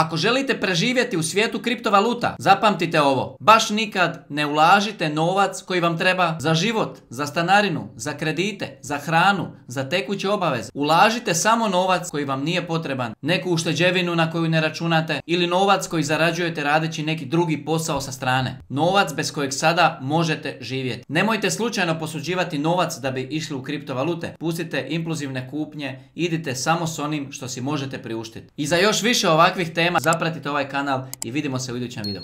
Ako želite preživjeti u svijetu kriptovaluta, zapamtite ovo. Baš nikad ne ulažite novac koji vam treba za život, za stanarinu, za kredite, za hranu, za tekuće obaveze. Ulažite samo novac koji vam nije potreban, neku ušteđevinu na koju ne računate ili novac koji zarađujete radeći neki drugi posao sa strane. Novac bez kojeg sada možete živjeti. Nemojte slučajno posuđivati novac da bi išli u kriptovalute. Pustite impulzivne kupnje, idite samo s onim što si možete priuštiti. I za još više ovakvih tema zapratite ovaj kanal i vidimo se u idućem videu.